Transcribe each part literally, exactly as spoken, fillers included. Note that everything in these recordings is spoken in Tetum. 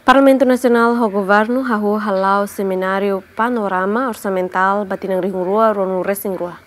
Parlamentu Nasionál ho Governu hahú hala'o semináriu panorama orsamentál ba tinan rihun rua ruanulu resin rua.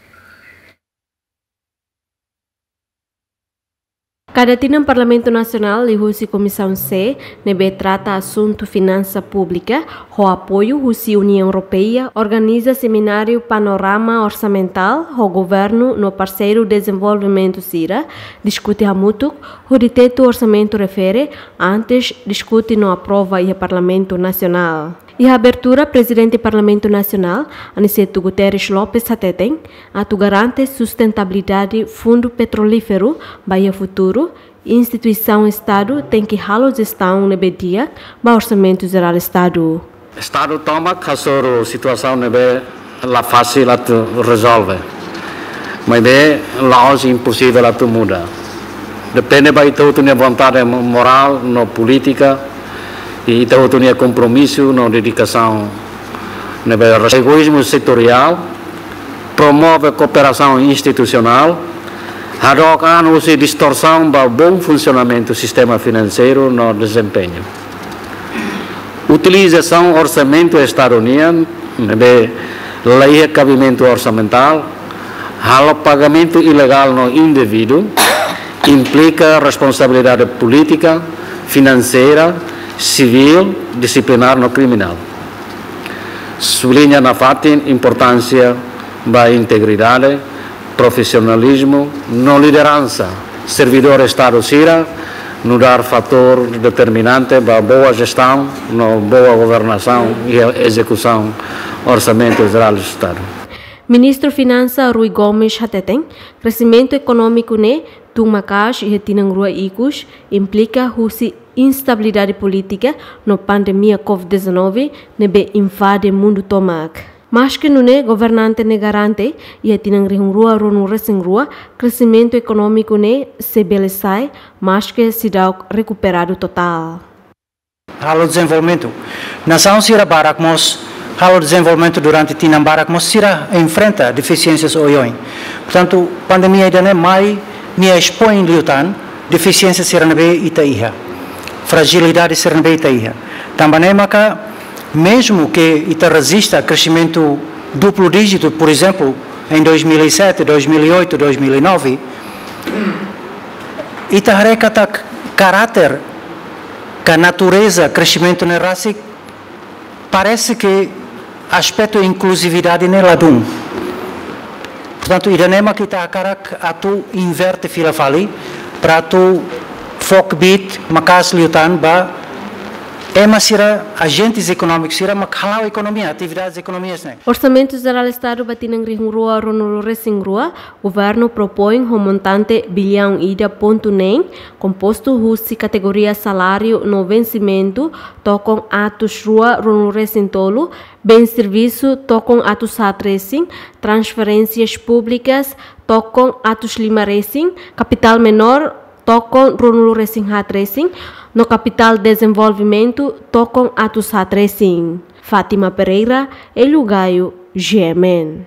Kada tinan Parlamentu Nasionál liuhusi Komisaun C ne'ebé trata asuntu finansa públika ho apoiu husi Uniaun Europeia organiza semináriu panorama orsamentál ho governu no parseiru dezenvolvimentu sira, diskute hamutuk hodi tetu orsamentu refere antes diskute no aprova iha Parlamentu Nasionál. Iha abertura, Prezidente Parlamentu Nasionál, Aniceto Guterres Lopes hateten, atu garante sustentabilidade fundu petrolíferu ba iha futuru, instituisaun Estadu tenke halo jestaun ne'ebé di'ak ba Orsamentu Jerál Estadu. Estadu tomak hasoru situasaun ne'ebé la fasil atu rezolve. Maibé la'ós imposivel atu muda. Depende ba ita hotu-nia vontade mo-, morál no polítika, i ita hotu-nia kompromisu no dedikasaun ne'ebé res-, egoízmu setoriál, promove kooperasaun institusionál, hadook an husi distorsaun ba bom funsionamentu sistema finanseiru no dezempeñu. Utilizasaun orsamentu Estadu nian ne'ebé la iha kabimentu orsamentál, halo pagamentu ilegál no indevidu, implika responsabilidade polítika, finanseira, sivíl, disiplinár no kriminál. Subliña nafatin importánsia ba integridade, profisionalizmu no lideransa servidór Estadu sira, nu'udar fatór determinante ba boa jestaun no boa governasaun iha ezekusaun Orsamentu Jerál Estadu. Ministru Finansa Rui Gomes hateten, kresimentu ekonómiku ne'e tun maka'as iha tinan rua ikus, implika husi instabilidade polítika no pandemia covid dezanove ne'ebé invade mundu tomak. Maske nune'e governante ne'e garante, iha tinan rihun rua ruanulu resin rua, kresimentu ekonómiku ne'e sei bele sa'e, maske seidauk rekuperadu totál. Halo dezenvolvimentu. Nasaun sira barak mós halo dezenvolvimentu durante tinan barak mós sira enfrenta defisiénsias oioin. Portantu, pandemia ida-ne'e mai nia espoin liután defisiénsia sira ne'ebé ita iha. Frajilidade sira ne'ebé ita iha. Tanba ne'e maka, mezmu ke ita rejista kresimentu duplu díjitu, por ezemplu, em dois mil e sete, dois mil e oito, dois mil e nove, ita haree katak karáter ka natureza kresimentu ne'e rasik, parese ke aspetu inkluzividade ne'e ladún. Portantu, ida-ne'e mak ita hakarak atu inverte fila fali, para atu fó kbiit maka'as liután ba ema sira, ajentes ekonómikus sira mak hala'o ekonomia, atividades ekonomias ne'e. Orsamentu Jerál Estadu ba tinan rihun rua ruanulu resin rua, Governu propoin ho montante biliaun ida pontu neen, kompostu husi kategoria saláriu no vensimentu, tokon atus rua ruanulu resin tolu, bens servisu, tokon atus haat resin, transferénsias públikas, tokon atus lima resin, kapitál menór, tokon ruanulu resin haat resin, no kapitál dezenvolvimentu, tokon atus haat resin. Fátima Pereira, Hélio Gaio, G M N.